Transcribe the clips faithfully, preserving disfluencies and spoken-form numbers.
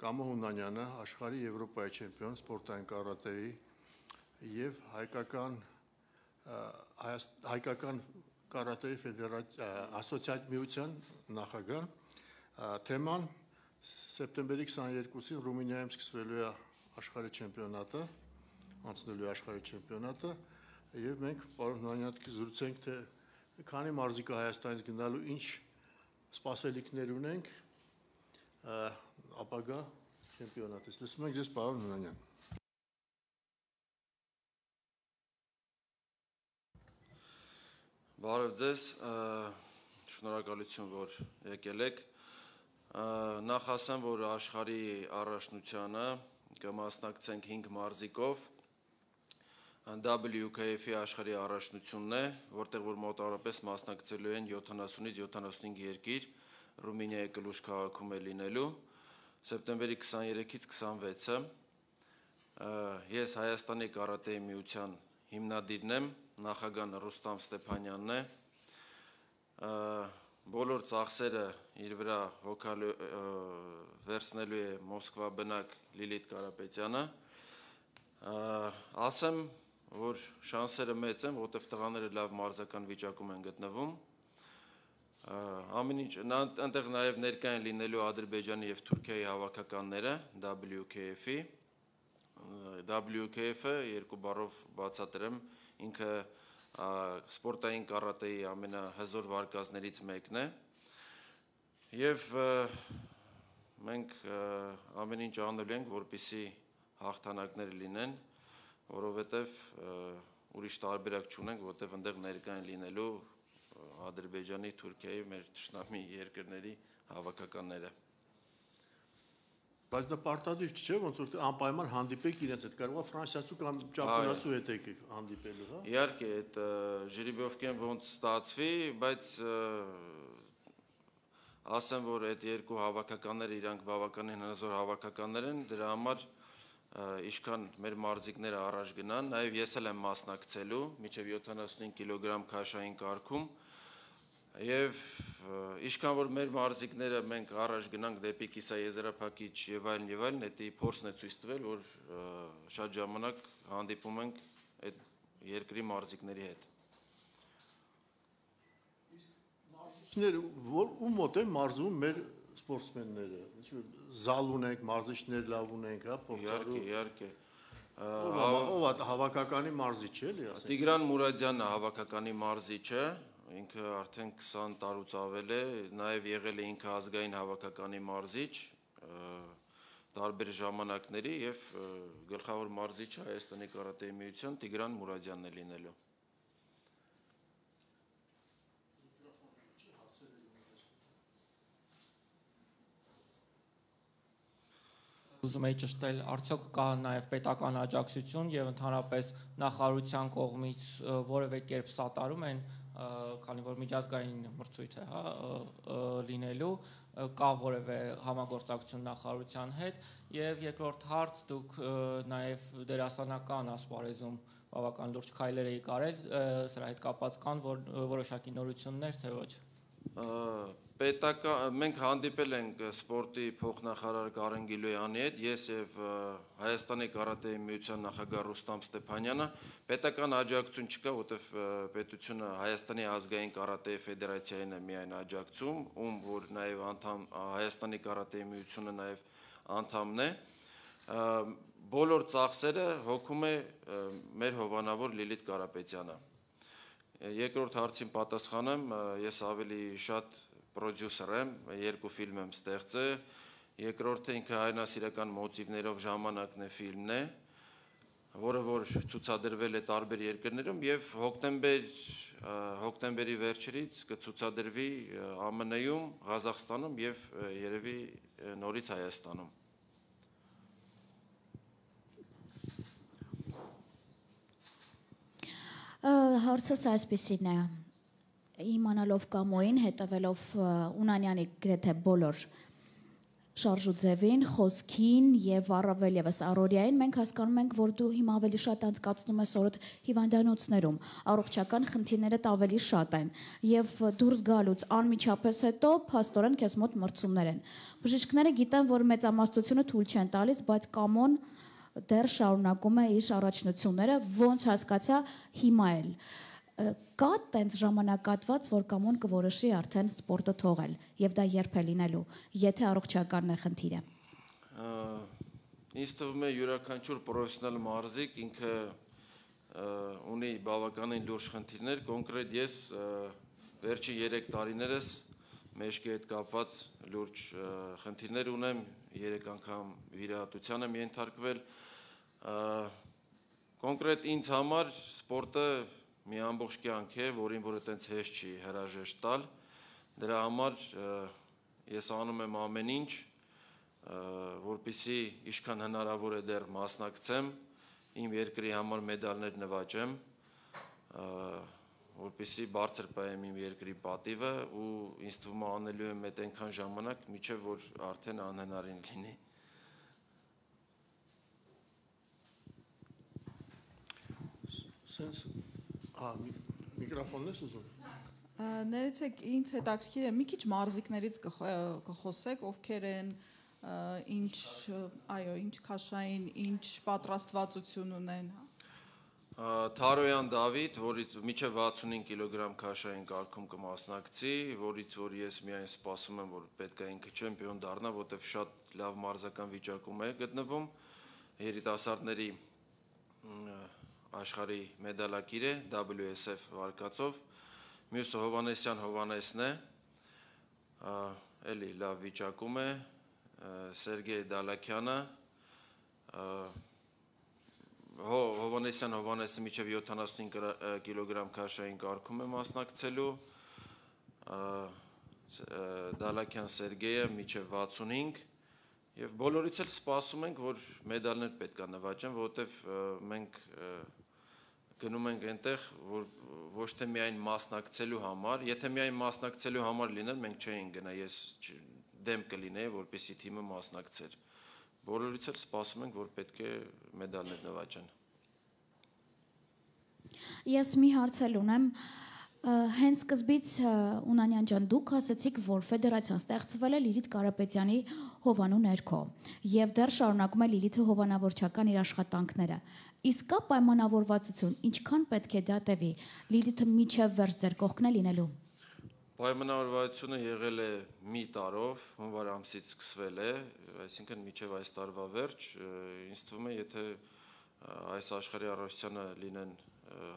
Կամո Հունանյանը աշխարհի Եվրոպայի չեմպիոն սպորտային կարատեի եւ հայկական հայկական կարատեի ֆեդերացիա ասոցիացիան նախագահ թեման սեպտեմբերի քսաներկուսին Ռումինիայում սկսվելու է աշխարհի չեմպիոնատը, անցնելու է աշխարհի չեմպիոնատը եւ մենք պարոն Հունանյանի զրուցենք թե քանի մարզիկա Հայաստանից գնալու ինչ սպասելիքներ ունենք ապագա չեմպիոնատից։ Լսում ենք ձեզ պարոն Հունանյան։ Բարև ձեզ, շնորհակալություն, որ եկել եք։ Նախ ասեմ, որ աշխարհի առաջնությանը կմասնակցենք հինգ մարզիկով W K F-ի աշխարհի առաջնությունն է, որտեղ որ մոտավորապես մասնակցելու են յոթանասունից յոթանասունհինգ երկիր, Ռումինիայի Կլուժ քաղաքում է լինելու, սեպտեմբերի քսաներեքից քսանվեցը։ Ես Հայաստանի կարատեի միության հիմնադիրն եմ, նախագահն Ռուստամ Ստեփանյանն է։ Բոլոր ծախսերը իր վրա հոգալու վերցնելու է Մոսկվա բնակ Լիլիթ Կարապետյանը։ Ասեմ, որ շանսերը մեծ են, որտեղ տղաները լավ մարզական վիճակում են գտնվում։ Ամեն ինչ այնտեղ նաև ներկա են լինելու Ադրբեջանի եւ Թուրքիայի հավաքականները W K F-ի։ W K F-ը երկու բառով բացատրեմ, ինքը սպորտային կարատեի ամենահզոր վարկածներից մեկն է եւ մենք ամեն ինչ անելու ենք, որպեսզի հաղթանակներ լինեն, որովհետեւ ուրիշ տարբերակ չունենք, որտեւ այնտեղ ներկա են լինելու Ադրբեջանի, Թուրքիայի, մեր թշնամի երկրների հավաքականները։ Բայց դա պարտադիր չէ, ոնց որ անպայման հանդիպեք իրենց հետ, կարող է ֆրանսիացու կամ ճապոնացու հետ եք հանդիպելու, հա։ Իհարկե, այդ ժիրիբովկեն ոնց ստացվի, բայց ասեմ, որ այդ երկու հավաքականները իրանք բավականին հզոր հավաքականներ են, դրա համար ինչքան մեր մարզիկները առաջ գնան, նաև ես էլ եմ մասնակցելու մինչև յոթանասունհինգ կիլոգրամ քաշային կարգում եւ ինչքան որ մեր մարզիկները մենք առաջ գնանք դեպի կիսաեզրափակիչ եւ այլն եւ այլն, դա փորձն է ցույց տվել, որ շատ ժամանակ հանդիպում ենք այդ երկրի մարզիկների հետ։ Մարզիչները ո՞ւմ մոտ են մարզում մեր սպորտսմենները, զալ ունենք, մարզիչներ լավ ունենք, հա, փորձառու։ Իհարկե, իհարկե։ Ով է հավաքականի մարզիչ էլի, ասենք։ Տիգրան Մուրադյանը հավաքականի մարզիչ է, ինքը արդեն քսան տարուց ավել է, նաև եղել է ինքը ազգային հավաքականի մարզիչ տարբեր ժամանակների եւ գլխավոր մարզիչը Հայաստանի կարատեի միության Տիգրան Մուրադյանն է լինելու։ Ուզում եի ճշտել, արդյոք կա նաև պետական աջակցություն եւ ընդհանրապես նախարարության կողմից որևէ կերպ սատարում են, քանի որ միջազգային մրցույթ է, հա, լինելու, կա որևէ համագործակցություն նախարարության հետ եւ երկրորդ հարց, դուք նաև դերասանական ասպարեզում բավական լուրջ քայլեր եք արել, սրա հետ կապված կան որոշակի նորություններ, թե ոչ։ Պետական մենք հանդիպել ենք սպորտի փոխնախարար Կարեն Գիլոյանի հետ, ես եւ Հայաստանի կարատեի միության նախագահ Ռուստամ Ստեփանյանը, պետական աջակցություն չկա, որտեվ պետությունը Հայաստանի ազգային կարատեի ֆեդերացիային է միայն աջակցում, ում որ նաեւ անդամ Հայաստանի կարատեի միությունը նաեւ անդամն է։ Բոլոր ծախսերը հոգում է մեր հովանավոր Լիլիթ Կարապետյանը։ Երկրորդ հարցին պատասխանեմ, ես ավելի շատ պրոդյուսեր եմ, երկու ֆիլմ եմ ստեղծել, երկրորդը ինքը հայրենասիրական մոտիվներով ժամանակն է ֆիլմն է, որը որ ցուցադրվել է տարբեր երկրներում եւ հոկտեմբեր հոկտեմբերի վերջերից կցուցադրվի A M N-ում, Ղազախստանում եւ երևի նորից Հայաստանում։ Հարցս այսպիսին է, իմանալով Կամոյին, հետևելով Հունանյանի գրեթե բոլոր շարժուձևին, խոսքին եւ առավել եւս առօրյային մենք հասկանում ենք, որ դու հիմա ավելի շատ անցկացնում ես օրդ հիվանդանոցներում, առողջական խնդիրներդ ավելի շատ են եւ դուրս գալուց անմիջապես հետո փաստորեն քեզ մոտ մրցումներ են։ Բժիշկները գիտեն, որ մեծամասնությունը թույլ չեն տալիս, բայց կամոն դեռ շարունակում է իր առաջնությունները, ոնց հասկացա հիմա էլ։ Կա տենց ժամանակատված, որ կամոն կորոշի արդեն սպորտը թողել եւ դա երբ է լինելու, եթե առողջականն է խնդիրը։ Ինձ թվում է յուրաքանչյուր պրոֆեսիոնալ մարզիկ ինքը ունի բավականին լուրջ խնդիրներ, կոնկրետ ես վերջի երեք տարիներս մեջքի հետ կապված լուրջ խնդիրներ ունեմ, երեք անգամ վիրահատության եմ ենթարկվել։ Կոնկրետ ինձ համար սպորտը մի ամբողջ կյանք է, որին որ այտենց հեշտ չի հրաժեշտ տալ, դրա համար ես անում եմ ամեն ինչ, որպեսզի ինչքան հնարավոր է դեռ մասնակցեմ, իմ երկրի համար մեդալներ նվաճեմ, որպեսզի բարձր պահեմ իմ երկրի պատիվը ու ինձ թվում է անելու եմ այդ այնքան ժամանակ, մինչև որ արդեն անհնարին լինի։ Sense Ա, միկրոֆոնն ես ուզում։ Ներեցեք, ինձ հետաքրքիր է, մի քիչ մարզիկներից կխոսեք, ովքեր են, ինչ, այո, ինչ քաշային, ինչ պատրաստվածություն ունեն։ Թարոյան Դավիթ, որից մինչև վաթսունհինգ կիլոգրամ քաշային կարգում կմասնակցի, որից որ ես միայն սպասում եմ, որ պետք է ինքը չեմպիոն դառնա, որտեղ շատ լավ մարզական վիճակում է գտնվում, երիտասարդների աշխարհի մեդալակիր է W S F վարկածով, մյուսը Հովանեսյան Հովանեսն է, էլի լավ վիճակում է, Սերգեյ Դալաքյանը, Հովանեսյան Հովանեսը մինչև յոթանասունհինգ կիլոգրամ քաշային կարգում է մասնակցելու, Դալաքյան Սերգեյը մինչև վաթսունհինգ եւ բոլորից էլ սպասում ենք, որ մեդալներ պետք է նվաճեն, որովհետեւ մենք գնում ենք այնտեղ, որ ոչ թե միայն մասնակցելու համար, եթե միայն մասնակցելու համար լիներ, մենք չէինք գնա, ես դեմ կլինեի, որպեսզի թիմը մասնակցեր։ Բոլորից էլ սպասում ենք, որ պետք է մեդալներ նվաճեն։ Ես մի հարց էլ ունեմ, հենց սկզբից Ունանյան ջան, դուք ասացիք, որ ֆեդերացիան ստեղծվել է Լիլիթ Կարապետյանի հովանու ներքո եւ դեռ շարունակում է Լիլիթը հովանավորչական իր աշխատանքները։ Իսկ կա պայմանավորվածություն, ինչքան պետք է դա տևի, Լիլիթը միջև վերջ ձեր կողքն է լինելու։ Պայմանավորվածությունը եղել է մի տարով, հունվար ամսից սկսվել է, այսինքն միջև այս տարվա վերջ, ինձ թվում է, եթե այս աշխարհի առողջությանը լինեն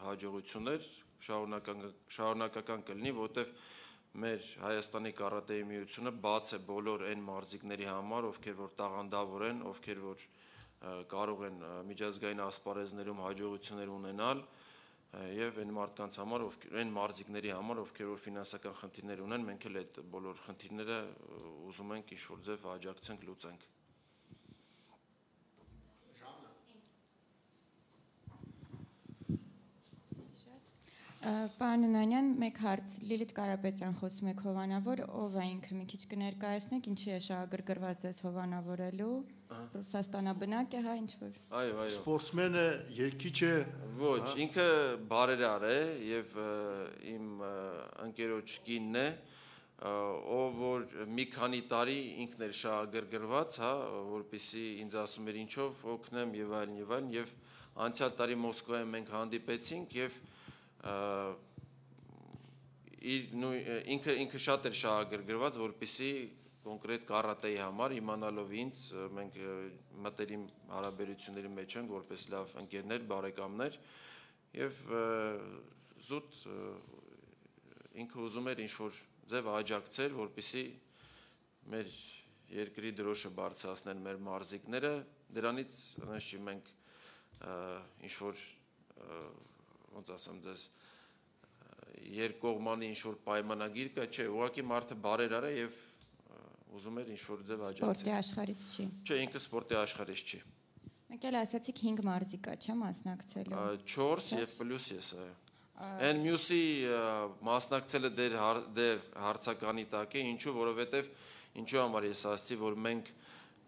հաջողություններ, շարունակական շարունակական կլինի, որտեվ մեր Հայաստանի կարատեի միությունը բաց է բոլոր այն մարզիկների համար, ովքեր որ տաղանդավոր են, ովքեր որ կարող են միջազգային ասպարեզներում հաջողություններ ունենալ եւ այն մարդկանց համար, ովքեր այն մարզիկների համար, ովքեր որ ֆինանսական խնդիրներ ունեն, մենք էլ այդ բոլոր խնդիրները ուզում ենք ինչ-որ ձև աջակցենք, լուծենք։ Պարոն Ունանյան, մեկ հարց, Լիլիթ Կարապետյան խոսում եք հովանավոր, ով է ինքը մի քիչ կներկայացնեք, ինչի է շահագրգռված ես հովանավորելու, Ռուսաստանաբնակ է, հա, ինչ-որ։ Այո, այո։ Սպորտսմեն է, երգիչ է։ Ոչ, ինքը բարերար է եւ իմ ընկերոջ կինն է, ով որ մի քանի տարի ինքն էր շահագրգռված, հա, որպեսզի ինձ ասում էր ինչով օգնեմ եւ այլն եւ այլն եւ անցյալ տարի Մոսկվայում մենք հանդիպեցինք եւ ինքը ինքը շատ էր շահագրգռված, որպեսզի կոնկրետ կարատեի համար իմանալով ինձ մենք մտերիմ հարաբերությունների մեջ ենք որպես լավ ընկերներ, բարեկամներ եւ զուտ ինքը ուզում էր ինչ-որ ձև աջակցել, որպեսզի մեր երկրի դրոշը բարձրացնեն մեր մարզիկները, դրանից հնչի մենք ինչ-որ ոնց ասեմ ձեզ երկկողմանի ինչ-որ պայմանագիր կա, չէ, ուղղակի մարդը բարերար է եւ ուզում էր ինչ-որ ձև աջակցել։ Սպորտի աշխարհից չի։ Չէ, ինքը սպորտի աշխարհից չի։ Մեկ էլ ասացիք հինգ մարզիկ կա, չէ՞, մասնակցելու։ չորս եւ պլյուս ես, այո։ Այն մյուսի մասնակցելը դեր դեր հարցականի տակ է, ինչու, որովհետեւ Ինչու համար ես ասացի, որ մենք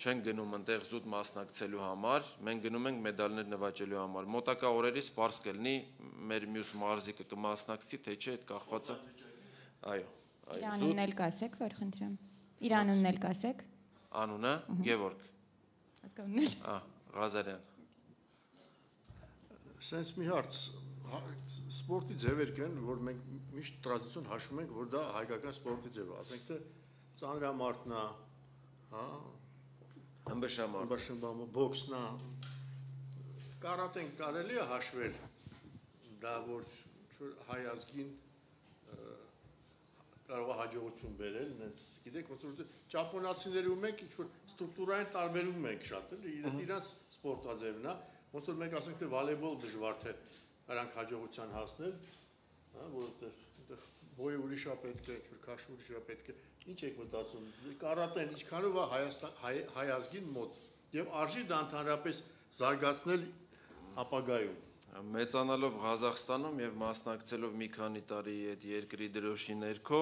չենք գնում այնտեղ զուտ մասնակցելու համար, մենք գնում ենք մեդալներ նվաճելու համար։ Մոտակա օրերից սպարս կլինի մեր մյուս մարզիկը կմասնակցի, թե չէ, այդ կախված է։ Այո, Իր անունն էլ կասեք, որ խնդրեմ։ Իր անունն էլ կասեք։ Անունը Գևորգ։ Հասկանու՞մ եք։ Ահա, Ղազարյան։ Սենց մի հարց, սպորտի ձևեր կան, որ մենք միշտ տրադիցիոն հաշվում ենք, որ դա հայկական սպորտի ձև է, ասենք թե ծանրամարտն է, հա, Ըմբշամարտ, ըմբշամարտ, բոքսն է, կարատեն կարելի է հաշվել, դա որ հայ ազգին կարող է հաջողություն բերել, նենց, գիտեք, ոնց որ ճապոնացիների ու մենք ինչ-որ ստրուկտուրային տարբերում ենք շատ, էլի, իրանց սպորտաձևն է, ոնց որ մենք ասենք թե վոլեյբոլ դժվար թե նրանք հաջողության հասնել, հա, որովհետև բոյը ուրիշ է պետք է, ինչ-որ քաշը ուրիշ է պետք է, ինչ եք մտածում, կարատեն ինչքանով է Հայաստան հայ ազգին մոտ եւ արժի դա ընդհանրապես զարգացնել ապագայում։ մեծանալով Ղազախստանում եւ մասնակցելով մի քանի տարի այդ երկրի դրոշի ներքո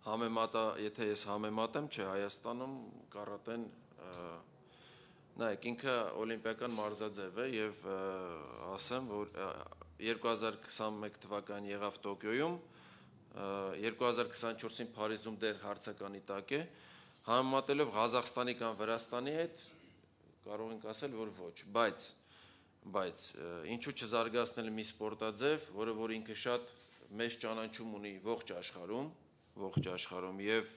համեմատա, եթե ես համեմատեմ, չէ, Հայաստանում կարատեն նայեք, ինքը օլիմպիական մարզաձև է եւ ասեմ, որ երկու հազար քսաներեք թվականին եղավ Տոկիոյում, երկու հազար քսանչորսին Փարիզում դեռ հարցականի տակ է, համեմատելով Ղազախստանի կամ Վրաստանի հետ կարող ենք ասել, որ ոչ, բայց բայց ինչու չզարգացնել մի սպորտաձև, որը որ ինքը շատ մեծ ճանաչում ունի ողջ աշխարհում, ողջ աշխարհում եւ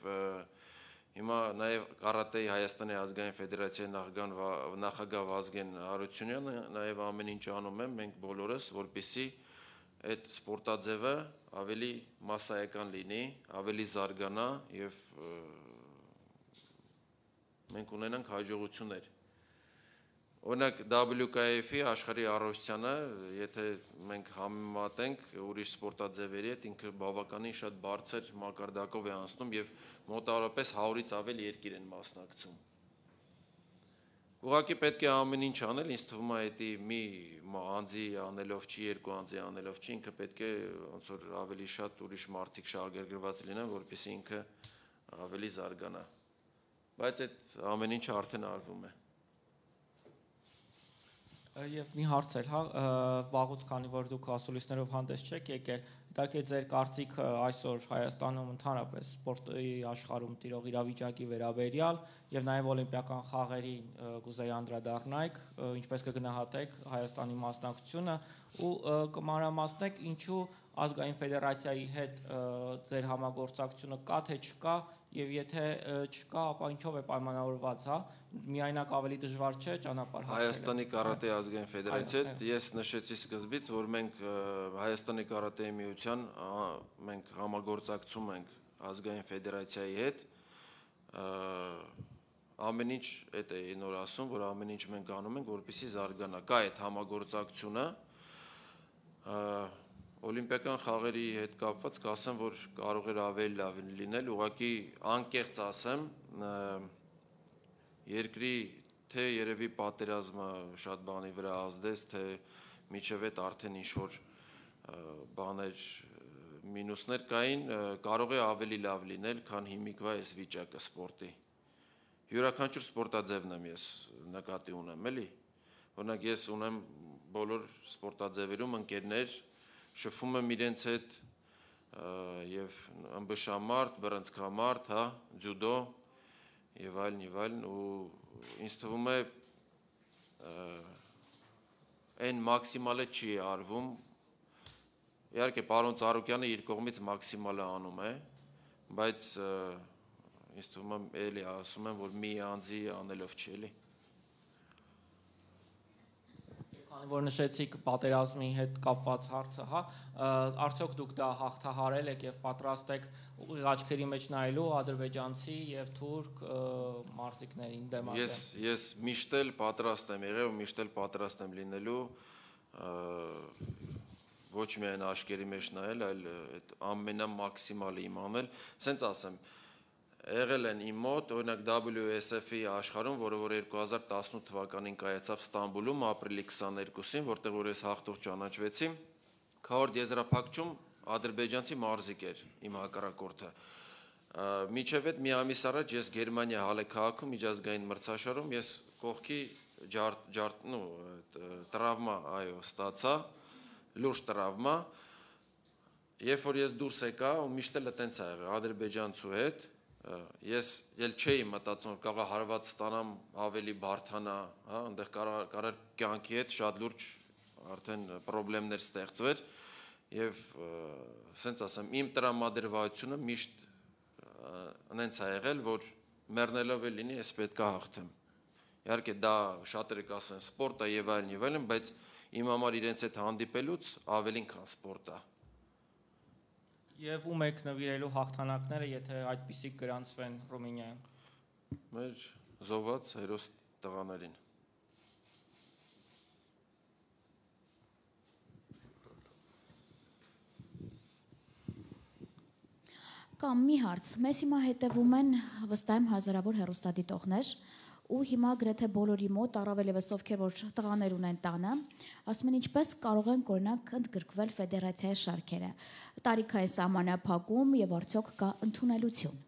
հիմա նաեւ կարատեի Հայաստանի ազգային ֆեդերացիայի նախագահ նախագահ Վազգեն Հարությունյանը նաեւ ամեն ինչ անում է, մենք բոլորս, որպեսզի այդ սպորտաձևը ավելի մասսայական լինի, ավելի զարգանա եւ մենք ունենանք հաջողություններ։ Օրինակ W K F-ի աշխարհի առողջությանը, եթե մենք համեմատենք ուրիշ սպորտաձևերի հետ, ինքը բավականին շատ բարձր մակարդակով է անցնում եւ մոտավորապես հարյուրից ավել երկիր են մասնակցում։ Ուղղակի պետք է ամեն ինչ անել, ինձ թվում է դա մի անձի անելով չի, երկու անձի անելով չի, ինքը պետք է ոնց որ ավելի շատ ուրիշ մարդիկ շահագրգռված լինեն, որպեսզի ինքը ավելի զարգանա։ Բայց այդ ամեն ինչը արդեն արվում է։ Եվ մի հարց էր, հա, վաղուց քանի որ դուք ասուլիսներով հանդես չեք եկել, իհարկե ձեր կարծիքը այսօր Հայաստանում ընդհանրապես սպորտի աշխարհում տիրող իրավիճակի վերաբերյալ եւ նաեւ օլիմպիական խաղերին կուզեի անդրադառնայք, ինչպես կգնահատեք Հայաստանի մասնակցությունը ու կմանրամասնեք ինչու ազգային ֆեդերացիայի հետ ձեր համագործակցությունը կա թե չկա եւ եթե չկա, ապա ինչով է պայմանավորված, հա, միայնակ ավելի դժվար չէ ճանապարհ հատել։ Հայաստանի կարատե ազգային ֆեդերացիա, ես նշեցի սկզբից, որ մենք Հայաստանի կարատեի միության մենք համագործակցում ենք ազգային ֆեդերացիայի հետ, ամեն ինչ այդ է նոր ասում, որ ամեն ինչ մենք անում ենք, որպեսզի զարգանա։ Կա այդ համագործակցությունը, օլիմպիական խաղերի հետ կապված կասեմ, որ կարող էր ավելի լավ լինել, ուղղակի անկեղծ ասեմ, երկրի թե երևի պատերազմը շատ բանի վրա ազդեց, թե միջև այդ արդեն ինչ-որ բաներ, մինուսներ կային, կարող է ավելի լավ լինել, քան հիմիկվա այս վիճակը սպորտի։ Յուրաքանչյուր սպորտաձևն եմ ես նկատի ունեմ, էլի։ Օրինակ ես ունեմ բոլոր սպորտաձևերում ընկերներ, շփվում եմ իրենց հետ եւ ըմբշամարտ, բռնցքամարտ, հա, ձյուդո եւ այլն եւ այլն ու ինձ թվում է այն մաքսիմալը չի արվում։ Իհարկե պարոն Ծառուկյանը իր կողմից մաքսիմալը անում է, բայց ինձ թվում է էլի ասում եմ, որ մի անձի անելով չի էլի։ Քանի որ նշեցիք պատերազմի հետ կապված հարցը, հա, արդյոք դուք դա հաղթահարել եք եւ պատրաստ եք ուղիղ աչքերի մեջ նայելու ադրբեջանցի եւ թուրք մարզիկներին դեմ Ես ես միշտ էլ պատրաստ եմ եղել ու միշտ էլ պատրաստ եմ լինելու ոչ միայն աչքերի մեջ նայել, այլ այդ ամենամաքսիմալը իմանալ, ասենց ասեմ, եղել են իմ մոտ, օրինակ W S F-ի աշխարհում, որը որ երկու հազար տասնութ թվականին կայացավ Ստամբուլում, ապրիլի քսաներկուսին, որտեղ որ ես հաղթող ճանաչվեցի, քառորդ եզրափակչում ադրբեջանցի մարզիկ էր իմ հակառակորդը։ Միջև այդ մի ամիս առաջ ես Գերմանիա Հալե քաղաքում միջազգային մրցաշարում ես կողքի ջարդ ջարդ նո տրավմա այո ստացա լուրջ տրավմա երբ որ ես դուրս եկա ու միշտ էլ այտենց ա եղել ադրբեջանցու հետ ես ել չէի մտածում որ կարող հարված ստանամ ավելի բարթանա հա այնտեղ կարող կյանքի հետ շատ լուրջ արդեն խնդիրներ ստեղծվեր եւ սենց ասեմ իմ տրամադրվածությունը միշտ այնց ա եղել որ մեռնելով է լինի ես պետք է հաղթեմ իհարկե դա շատերը կասեն սպորտ է եւ այլն եւ այլն բայց իմ համար իրենց հետ հանդիպելուց ավելին քան սպորտ է Եվ ում եք նվիրելու հաղթանակները եթե այդպիսի գրանցվեն Ռումինիայում Մեր զոհված հերոս տղաներին Կամ մի հարց, մեզ հիմա հետևում են վստահ եմ հազարավոր հեռուստադիտողներ ու հիմա գրեթե բոլորի մոտ առավել եւս ովքեր որ տղաներ ունեն տանը, ասում են ինչպես կարող են օրինակ ընդգրկվել ֆեդերացիայի շարքերը, տարիքային սահմանափակում եւ արդյոք կա ընդունելություն։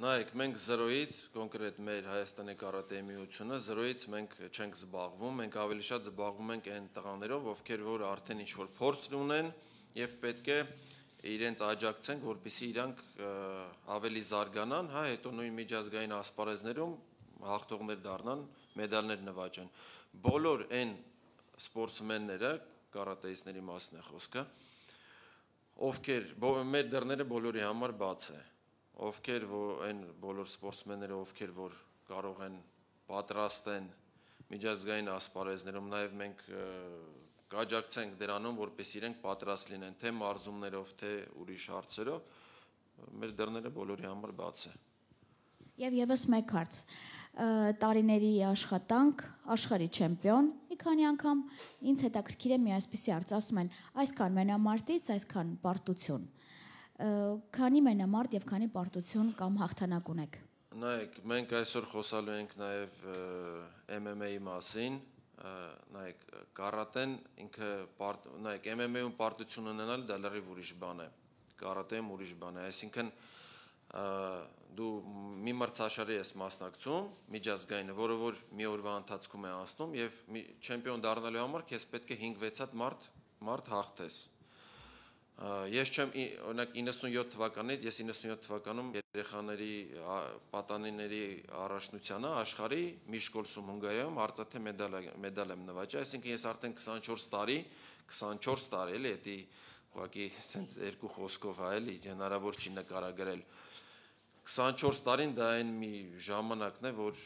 Նայեք, մենք զրոյից, կոնկրետ մեր Հայաստանի կարատեի միությունը, զրոյից մենք չենք զբաղվում, մենք ավելի շատ զբաղվում ենք այն տղաներով, ովքեր որ արդեն ինչ-որ փորձ ունեն եւ պետք է իրենց աջակցենք, որպեսզի իրանք ավելի զարգանան, հա, հետո նույն միջազգային ասպարեզներում հաղթողներ դառնան, մեդալներ նվաճեն։ Բոլոր այն սպորտսմենները, կարատեիստների մասն է խոսքը, ովքեր մեր դռները բոլորի համար բաց է, ովքեր այն բոլոր սպորտսմենները, ովքեր որ կարող են պատրաստ են միջազգային ասպարեզներում, նաև մենք կաջակցենք դրանում, որպես իրենք պատրաստ լինեն, թե մարզումներով, թե ուրիշ հարցերով, մեր դռները բոլորի համար բաց է։ Եվ եւս մեկ հարց, տարիների աշխատանք, աշխարհի չեմպիոն, մի քանի անգամ ինձ հետաքրքիր է մի այսպիսի հարց, ասում են, այսքան մենամարտից, այսքան պարտություն, քանի մենամարտ եւ քանի պարտություն կամ հաղթանակ ունեք։ Նայեք, մենք այսօր խոսալու ենք նաեւ M M A-ի մասին, նայեք կարատեն ինքը նայեք M M A-ում պարտություն ունենալ դա լրիվ ուրիշ բան է կարատեում ուրիշ բան է այսինքն դու մի մրցաշարի ես մասնակցում միջազգայինը որը որ մի օրվա ընթացքում է անցնում եւ չեմպիոն դառնալու համար քեզ պետք է հինգ-վեց հատ մարդ մարդ հաղթես Ես չեմ օրինակ իննսունյոթ թվականից ես իննսունյոթ թվականում երեխաների պատանիների առաջնությանը աշխարհի Միշկոլսում Հունգարիայում արծաթե մեդալ մեդալ եմ նվաճել, այսինքն ես արդեն քսանչորս տարի, քսանչորս տարի էլի, էդի ուղղակի sense երկու խոսքով հա էլի հնարավոր չի նկարագրել։ քսանչորս տարին դա այն մի ժամանակն է, որ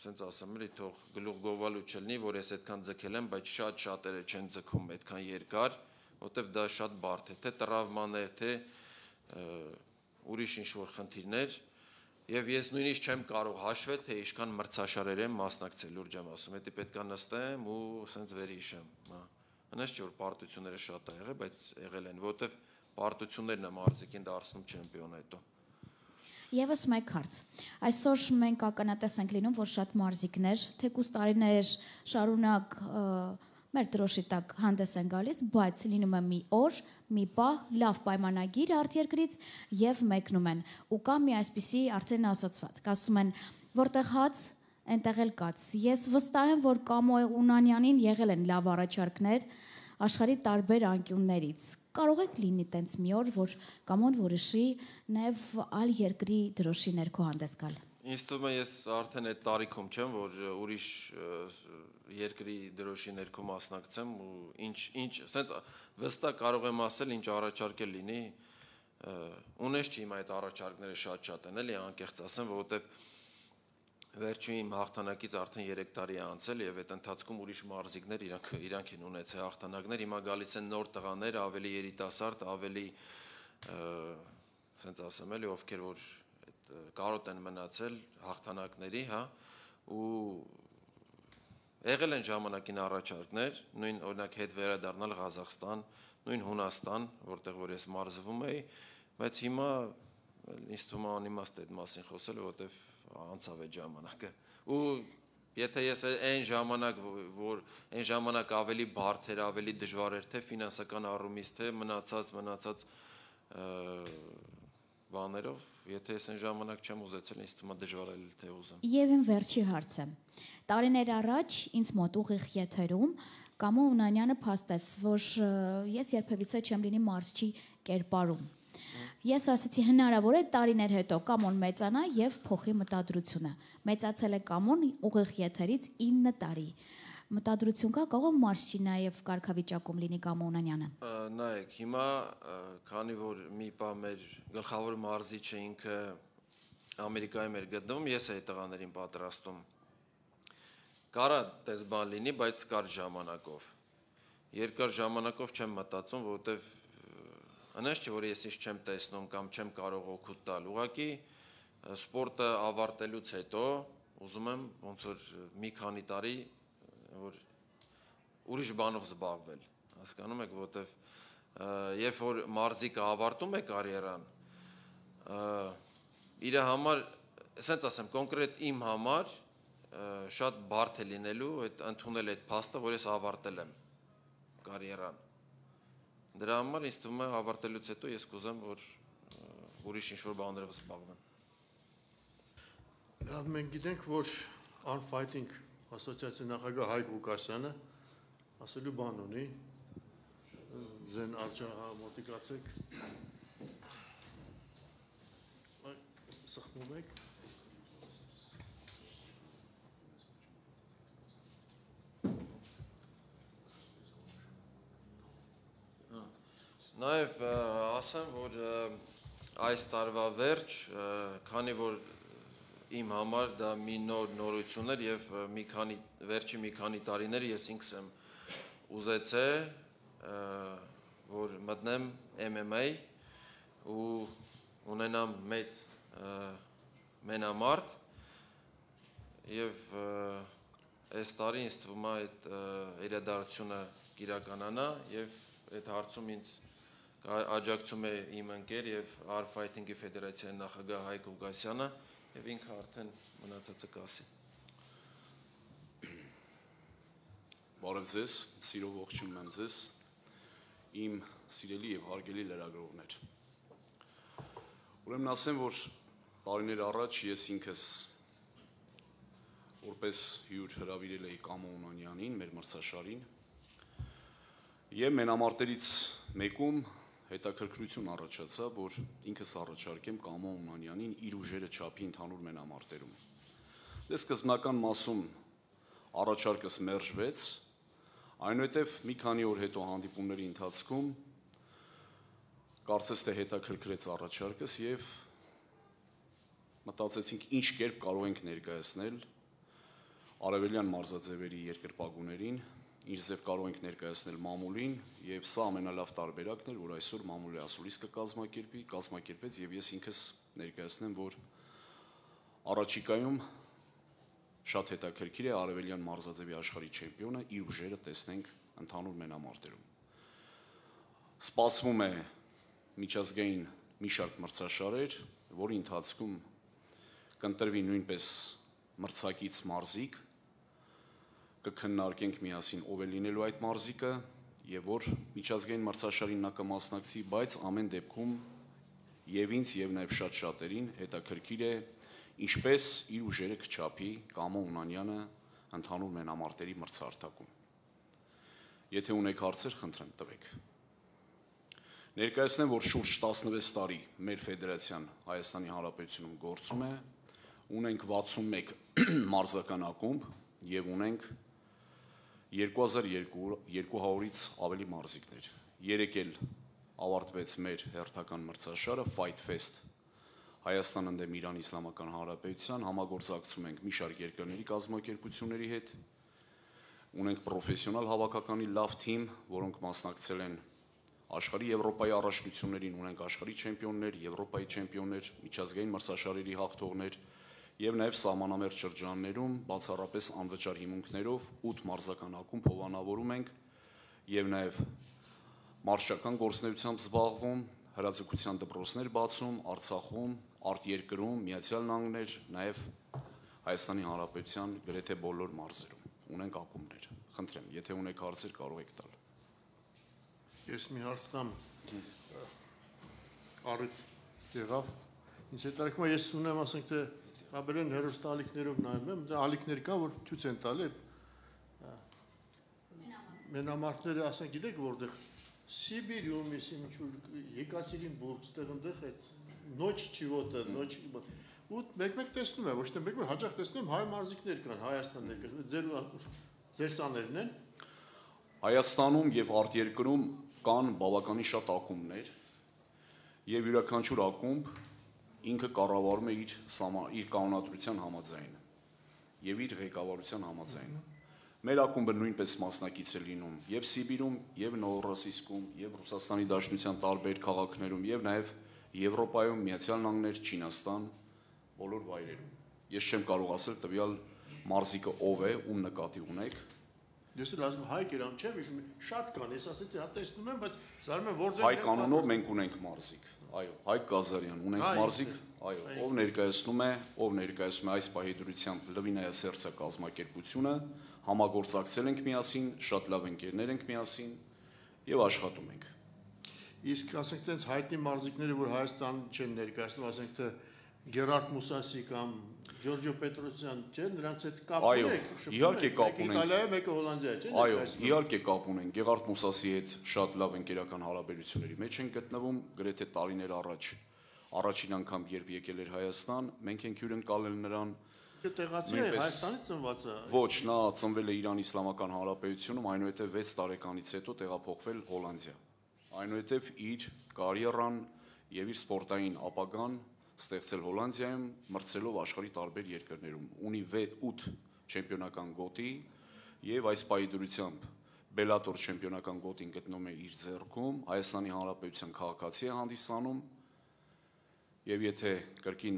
sense ասեմ էլի թող գլուխ գովալու չլինի, որ ես այդքան ձգել եմ, բայց շատ շատերը չեն ձգում այդքան երկար որտեվ դա շատ բարդ է, թե տրավմաներ, թե ուրիշ ինչ-որ խնդիրներ եւ ես նույնիսկ չեմ կարող հաշվել, թե ինչքան մրցաշարեր եմ մասնակցել, լուրջ եմ ասում, դա պետք է նստեմ ու սենց վերհիշեմ, հա։ Հնաց չէ որ պարտությունները շատ ա եղել, բայց եղել են, որտեվ պարտություններն է մարզիկին դարձնում չեմպիոն հետո։ Եվս մեկ հարց։ Այսօր մենք ականատես ենք լինում, որ շատ մարզիկներ, թեկուզ տարիներ շարունակ մեր դրոշի տակ հանդես են գալիս, բայց լինում է մի օր, մի պահ, լավ պայմանագիր արտերկրից եւ մեկնում են։ Ու կա մի այսպիսի արդեն ասոցված, ասում են, որտեղ հաց, այնտեղ էլ կաց։ Ես վստահ եմ, որ Կամո Ունանյանին եղել են լավ առաջարկներ աշխարհի տարբեր անկյուններից։ Կարող եք լինի տենց մի օր, որ Կամոն որոշի նաեւ այլ երկրի դրոշի ներքո հանդես գալ։ Ինձ թվում է ես արդեն այդ տարիքում չեմ, որ ուրիշ երկրի դրոշի ներքո մասնակցեմ ու ինչ ինչ ասենց վստահ կարող եմ ասել ինչ առաջարկել լինի ունես չի իմ այդ առաջարկները շատ-շատ են էլի անկեղծ ասեմ, որովհետև վերջին իմ հաղթանակից արդեն երեք տարի է անցել եւ այդ ընթացքում ուրիշ մարզիկներ իրանք իրանք են ունեցել հաղթանակներ, հիմա գալիս են նոր տղաներ, ավելի երիտասարդ, ավելի ասենց ասեմ էլի ովքեր որ կարոտ են մնացել հաղթանակների, հա, ու եղել են ժամանակին առաջարկներ, նույն օրինակ հետ վերադառնալ Ղազախստան, նույն Հունաստան, որտեղ որ ես մարզվում էի, բայց հիմա ինձ թվում է անիմաստ է այդ մասին խոսել, որովհետև անցավ այդ ժամանակը։ Ու եթե ես այն ժամանակ, որ այն ժամանակ ավելի բարդ էր, ավելի դժվար էր, թե ֆինանսական առումից, թե մնացած, մնացած բաներով, եթե ես այն ժամանակ չեմ ուզեցել, ինձ թվում է դժվար է թե ուզեմ։ Եվ իմ վերջի հարցը։ Տարիներ առաջ ինձ մոտ ուղիղ եթերում Կամո Ունանյանը փաստեց, որ ես երբևիցե չեմ լինի մարզչի կերպարում։ Ես ասացի հնարավոր է տարիներ հետո Կամոն մեծանա եւ փոխի մտադրությունը։ Մեծացել է Կամոն ուղիղ եթերից ինը տարի։ Մտադրություն կա կարող մարզչի նաեւ կարգավիճակում լինի Կամո Ունանյանը։ Նայեք, հիմա քանի որ մի բա մեր գլխավոր մարզիչը ինքը Ամերիկայում էր գտնվում, ես էի տղաներին պատրաստում։ Կարա դες բան լինի, բայց կար ժամանակով։ Երկար ժամանակով չեմ մտածում, որովհետև անշուշտ չէ, որ ես ինչ չեմ տեսնում կամ չեմ կարող օգուտ տալ։ Ուղղակի սպորտը ավարտելուց հետո ուզում եմ ոնց որ մի քանի տարի որ ուրիշ բանով զբաղվել, հասկանում եք, որովհետև երբ որ մարզիկը ավարտում է կարիերան, իր համար, ասենց ասեմ, կոնկրետ իմ համար շատ բարդ է լինելու այդ ընդունել այդ փաստը, որ ես ավարտել եմ կարիերան։ Դրա համար ինձ թվում է ավարտելուց հետո ես կուզեմ, որ ուրիշ ինչ-որ բաներով զբաղվեմ։ Լավ, մենք գիտենք, որ Unfighting ասոցիացիայի նախագահ Հայկ Ղուկասյանը ասելու բան ունի, ձեն արժանամոտիկացեք, սխմում եք։ Նաև ասեմ, որ այս տարվա վերջ, քանի որ իմ համար դա մի նոր նորություն էր եւ մի քանի վերջի մի քանի տարիներ ես ինքս եմ ուզեցե, որ մտնեմ M M A ու ունենամ մեծ մենամարտ եւ այս տարի ինձ թվում է այդ իրադարձությունը կիրականանա եւ այդ հարցում ինձ աջակցում է իմ ընկեր եւ R-Fighting-ի ֆեդերացիայի նախագահ Հայկ Ղուկասյանը եւ ինքը արդեն մնացածը կասի։ Բարև ձեզ, սիրով ողջունում եմ ձեզ, իմ սիրելի եւ հարգելի լրագրողներ։ Ուրեմն ասեմ, որ տարիներ առաջ ես ինքս որպես հյուր հրավիրել էի Կամո Ունանյանին, մեր մրցաշարին, եւ մենամարտերից մեկում հետաքրքրություն առաջացավ, որ ինքս առաջարկեմ Կամո Ունանյանին իր ուժերը չափի ընդհանուր մենամարտերում։ Դե սկզբնական մասում առաջարկս մերժվեց, այնուհետև մի քանի օր հետո հանդիպումների ընթացքում կարծես թե հետաքրքրեց առաջարկս եւ մտածեցինք ինչ կերպ կարող ենք ներկայացնել արևելյան մարզաձևերի երկրպագուներին, ինչ ձև կարող ենք ներկայացնել մամուլին եւ սա ամենալավ տարբերակն էր, որ այսօր մամուլի ասուլիս կկազմակերպի, կազմակերպեց եւ ես ինքս ներկայացնեմ, որ առաջիկայում շատ հետաքրքիր է արևելյան մարզաձևի աշխարհի չեմպիոնը իր ուժերը տեսնենք ընդհանուր մենամարտերում։ Սպասվում է միջազգային մի շարք մրցաշարեր, որի ընթացքում կընտրվի նույնպես մրցակից մարզիկ, կքննարկենք միասին ով է լինելու այդ մարզիկը եւ որ միջազգային մրցաշարին նա կմասնակցի, բայց ամեն դեպքում եւ ինձ եւ նաեւ շատ շատերին հետաքրքիր է ինչպես իր ուժերը կչափի Կամո Ունանյանը ընդհանուր մենամարտերի մրցարթակում։ Եթե ունեք հարցեր, խնդրեմ տվեք։ Ներկայացնեմ, որ շուրջ տասնվեց տարի մեր ֆեդերացիան Հայաստանի Հանրապետությունում գործում է, ունենք վաթսունմեկ մարզական ակումբ եւ ունենք երկու հազար երկու հարյուրից ավելի մարզիկներ։ Երեկ էլ ավարտվեց մեր հերթական մրցաշարը Fight Fest Հայաստան ընդդեմ Իրան Իսլամական Հանրապետության, համագործակցում ենք մի շարք երկրների կազմակերպությունների հետ, ունենք պրոֆեսիոնալ հավաքականի լավ թիմ, որոնք մասնակցել են աշխարհի Եվրոպայի առաջնություններին, ունենք աշխարհի չեմպիոններ, Եվրոպայի չեմպիոններ, միջազգային մրցաշարերի հաղթողներ եւ նաեւ սահմանամերձ շրջաններում բացառապես անվճար հիմունքներով ութ մարզական ակումբ հովանավորում ենք եւ նաեւ մարշչական գործունեությամբ զբաղվում, հրաձգության դպրոցներ բացում Արցախում, արտերկրում, Միացյալ Նահանգներ, նաեւ Հայաստանի Հանրապետության գրեթե բոլոր մարզերում ունենք ակումբներ։ Խնդրեմ, եթե ունեք հարցեր, կարող եք տալ։ Ես մի հարց տամ։ առիթ եղավ։ Ինձ հետաքրքրում է, ես ունեմ, ասենք թե Աբերեն հերոստալիքներով նայում եմ, դա ալիքներ կա, որ ցույց են տալի մենամարտները, ասենք գիտեք որտեղ Սիբիրիում, ես ինչ-որ Եկատերինբուրգ, ստեղ այնտեղ այդ նոչ չիվոտը, նոչ ու մեկ-մեկ տեսնում եմ, ոչ թե մեկ-մեկ հաճախ տեսնում եմ հայ մարզիկներ կան, Հայաստան ներկայացնում, ձեր ձեր սաներն են։ Հայաստանում եւ արտերկրում կան բավականին շատ ակումբներ եւ յուրաքանչյուր ակումբ ինքը կառավարում է իր իր կանոնադրության համաձայն եւ իր ղեկավարության համաձայն։ Մեր ակումբը նույնպես մասնակից է լինում եւ Սիբիրում, եւ Նովորոսիսկում, եւ Ռուսաստանի Դաշնության տարբեր քաղաքներում, եւ նաեւ Եվրոպայում, Միացյալ Նահանգներ, Չինաստան, բոլոր վայրերում։ Ես չեմ կարող ասել տվյալ մարզիկը ով է, ում նկատի ունեք։ Ես էլ ասում հայ կերամ չեմ, հիշում շատ կան, ես ասեցի, հա տեսնում եմ, բայց զարում եմ որտեղ հայ կանոնով մենք ունենք մարզիկ։ Այո, Հայկ Գազարյան, ունենք մարզիկ, այո, ով ներկայացնում է, ով ներկայացնում է այս պահի դրությամբ Լվինայասերցա կազմակերպությունը, համագործակցել ենք միասին, շատ լավ ընկերներ ենք միասին եւ աշխատում ենք։ Իսկ ասենք տենց հայտնի մարզիկները, որ Հայաստան չեն ներկայացնում, ասենք թե Գերարդ Մուսասի կամ Ջորջո Պետրոսյան, չէ՞, նրանց հետ կապ ունեք։ Այո, իհարկե կապ ունենք։ Իտալիայում, մեկը Հոլանդիա, չէ՞։ Այո, իհարկե կապ ունենք։ Գերարդ Մուսասի հետ շատ լավ ընկերական հարաբերությունների մեջ են գտնվում, գրեթե տարիներ առաջ, առաջին անգամ երբ եկել էր Հայաստան, մենք ենք հյուրընկալել նրան։ Տեղացի է, Հայաստանից ծնված է։ Ոչ, նա ծնվել է Իրանի Իսլամական Հանրապետությունում, այնուհետև վեց տարեկանից հետո տեղափոխվել Հոլանդիա։ Այնուհետև իր կարիերան եւ իր սպորտային ապագան ստեղծել Հոլանդիայում, մրցելով աշխարհի տարբեր երկրներում։ Ունի ութ չեմպիոնական գոտի եւ այս պայդրությամբ Բելատոր չեմպիոնական գոտին գտնում է իր ձեռքում, Հայաստանի Հանրապետության քաղաքացի է հանդիսանում։ Եվ եթե կրկին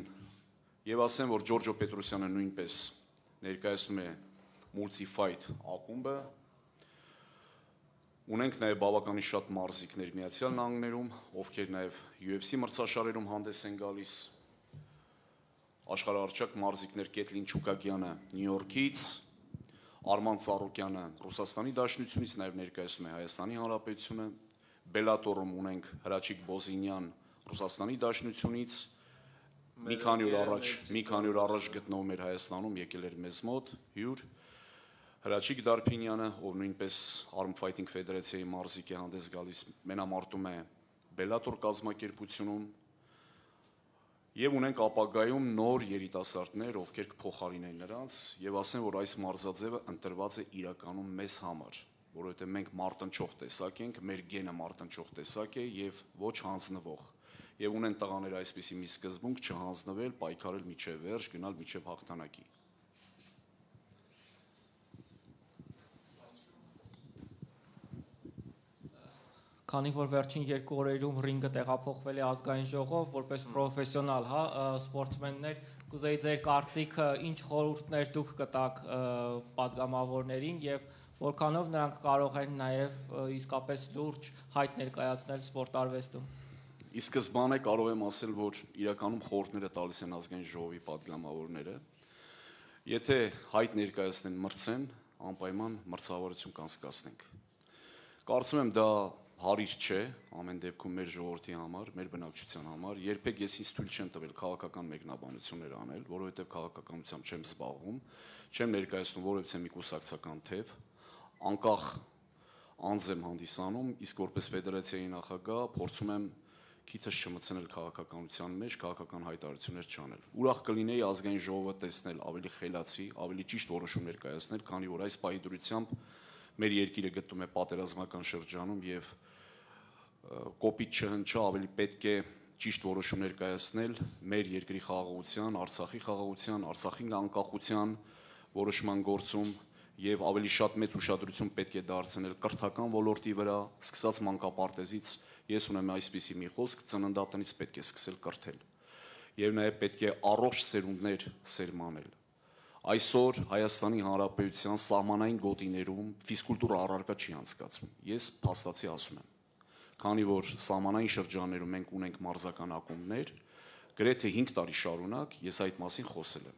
եւ ասեմ, որ Ջորջո Պետրոսյանը նույնպես ներկայացնում է Multi-Fight ակումբը։ Ունենք նաև բավականին շատ մարզիկներ Միացյալ Նահանգներում, ովքեր նաև յու էֆ սի մրցաշարերում հանդես են գալիս։ Աշխարհահռչակ մարզիկներ Կեթլին Չուկակյանը Նյու Յորքից, Արման Ծառուկյանը Ռուսաստանի Դաշնությունից նաև ներկայացնում է Հայաստանի Հանրապետությունը։ Բելատորում ունենք Հրաչիկ Բոզինյան Ռուսաստանի Դաշնությունից, մի քանի օր առաջ, մի քանի օր առաջ գտնվում էր Հայաստանում, եկել էր մեզ մոտ հյուր Հրաչիկ Դարփինյանը, ով նույնպես Arm Fighting Ֆեդերացիայի մարզիկ է հանդես գալիս, մենամարտում է Բելատոր կազմակերպությունում եւ ունենք ապագայում նոր երիտասարդներ, ովքեր կփոխարինեն նրանց եւ ասեն, որ այս մարզաձևը ընտրված է իրականում մեզ համար, որովհետեւ մենք մարտնչող տեսակ ենք, մեր գենը մարտնչող տեսակ է եւ ոչ հանձնվող։ Եվ ունեն տղաները այսպիսի մի սկզբունք չհանձնվել, պայքարել միջև վերջ, գնալ միջև հաղթանակի։ Քանի որ վերջին երկու օրերում ռինգը տեղափոխվել է ազգային ժողով, որպես պրոֆեսիոնալ, հա, սպորտսմեններ, կուզեի ձեր կարծիքը, ինչ խորհուրդներ դուք կտաք պատգամավորներին եւ որքանով նրանք կարող են նաեւ իսկապես լուրջ հայտ ներկայացնել սպորտարվեստում։ Ի սկզբանե կարող եմ ասել, որ իրականում խորհուրդները տալիս են ազգային ժողովի պատգամավորները։ Եթե հայտ ներկայացնեն մրցեն, անպայման մրցավարություն կանցկացնենք։ Կարծում եմ դա հարիր չէ ամեն դեպքում մեր ժողովրդի համար, մեր բնակչության համար, երբեք ես ինձ թույլ չեմ տվել քաղաքական մեկնաբանություններ անել, որովհետև քաղաքականությամբ չեմ զբաղվում, չեմ ներկայացնում որևէ մի կուսակցական թեփ, անկախ անձ եմ հանդիսանում, իսկ որպես ֆեդերացիայի նախագահ փորձում եմ քիթս չմտցնել քաղաքականության մեջ, քաղաքական հայտարարություններ չանել։ Ուրախ կլինեի ազգային ժողովը տեսնել ավելի խելացի, ավելի ճիշտ որոշումներ կայացնել, քանի որ այս պահի դրությամբ մեր երկիրը գտնվում է պատերազմական շրջանում եւ կոպիտ չհնչա, ավելի պետք է ճիշտ որոշումներ կայացնել մեր երկրի խաղաղության, Արցախի խաղաղության, Արցախի անկախության որոշման գործում եւ ավելի շատ մեծ ուշադրություն պետք է դարձնել կրթական ոլորտի վրա, սկսած մանկապարտեզից ես ունեմ այսպիսի մի խոսք, ծննդատնից պետք է սկսել կրթել եւ նաեւ պետք է առողջ սերունդներ սերմանել։ Այսօր Հայաստանի Հանրապետության սահմանային գոտիներում ֆիզկուլտուրա առարկա չի անցկացվում։ Ես փաստացի ասում եմ, քանի որ սահմանային շրջաններում մենք ունենք մարզական ակումբներ, գրեթե հինգ տարի շարունակ ես այդ մասին խոսել եմ։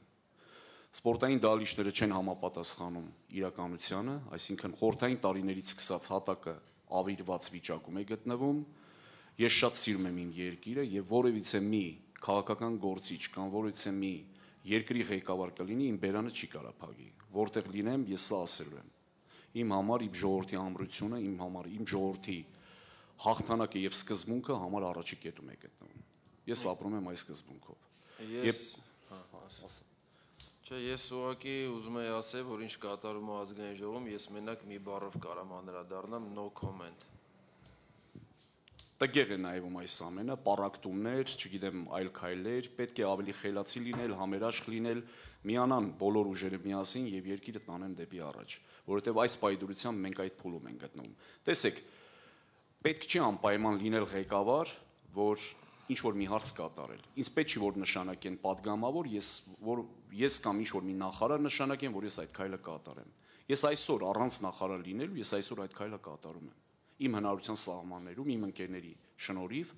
Սպորտային դահլիճները չեն համապատասխանում իրականությանը, այսինքն խորհրդային տարիներից սկսած հատակը ավիրված վիճակում է գտնվում Ես շատ սիրում եմ իմ երկիրը եւ որևիցե մի քաղաքական գործիչ կամ որևիցե մի երկրի ղեկավար կլինի, իմ բերանը չի կարա փակի, որտեղ լինեմ, ես սա ասելու եմ։ Իմ համար իմ ժողովրդի ամրությունը, իմ համար իմ ժողովրդի հաղթանակը եւ սկզբունքը համար առաջի կետում է գտնվում։ Ես ապրում եմ այս սկզբունքով։ Ես Չէ, ես ուղղակի ուզում եի ասել, որ ինչ կատարում է ազգային ժողովում, ես մենակ մի բառով կարամ անդրադառնամ, no comment։ Տգեղ է նայվում այս ամենը, պառակտումներ, չգիտեմ, այլ քայլեր, պետք է ավելի խելացի լինել, համերաշխ լինել, միանան բոլոր ուժերը միասին եւ երկիրը տանեն դեպի առաջ, որովհետեւ այս պայդուրությամբ մենք այդ փուլում ենք գտնվում։ Տեսեք, պետք չի անպայման լինել ղեկավար, որ ինչ որ մի հարց կատարել։ Ինձ պետք չի որ նշանակեն падգամավոր, ես որ ես կամ ինչ որ մի նախարար նշանակեն, որ ես այդ քայլը կատարեմ։ Ես այսօր առանց նախարար լինելու, ես այսօր այդ քայլը կատարում եմ։ Իմ հնարավորության սահմաններում, իմ ընկերների շնորհիվ